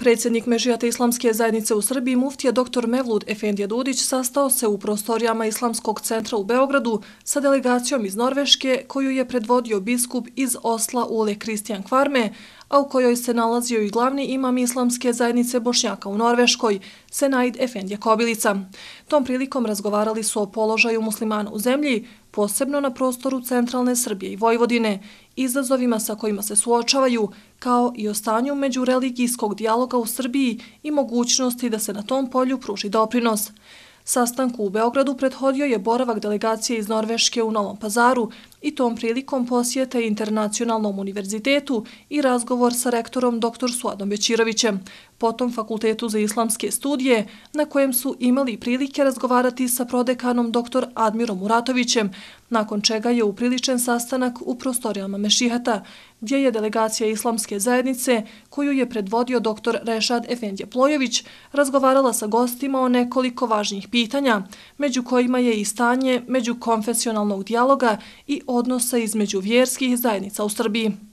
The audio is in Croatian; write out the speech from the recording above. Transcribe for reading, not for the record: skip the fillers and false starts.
Predsjednik Mešihata Islamske zajednice u Srbiji muftija dr. Mevlud Efendija Dudić sastao se u prostorijama Islamskog centra u Beogradu sa delegacijom iz Norveške koju je predvodio biskup iz Osla Ole Kristijan Kvarme, a u kojoj se nalazio i glavni imam Islamske zajednice Bošnjaka u Norveškoj, Senaid Efendija Kobilica. Tom prilikom razgovarali su o položaju muslimana u zemlji, posebno na prostoru centralne Srbije i Vojvodine, izazovima sa kojima se suočavaju, kao i o stanju međureligijskog dijaloga u Srbiji i mogućnosti da se na tom polju pruži doprinos. Sastanku u Beogradu prethodio je boravak delegacije iz Norveške u Novom Pazaru i tom prilikom posjete Internacionalnom univerzitetu i razgovor sa rektorom dr. Suadom Bećirovićem, potom Fakultetu za islamske studije, na kojem su imali prilike razgovarati sa prodekanom dr. Admirom Muratovićem, nakon čega je upriličen sastanak u prostorijama Mešihata, gdje je delegacija Islamske zajednice, koju je predvodio dr. Rešad Efendija Plojević, razgovarala sa gostima o nekoliko važnijih pitanja, među kojima je i stanje međukonfesionalnog dijaloga i odnosa između vjerskih zajednica u Srbiji.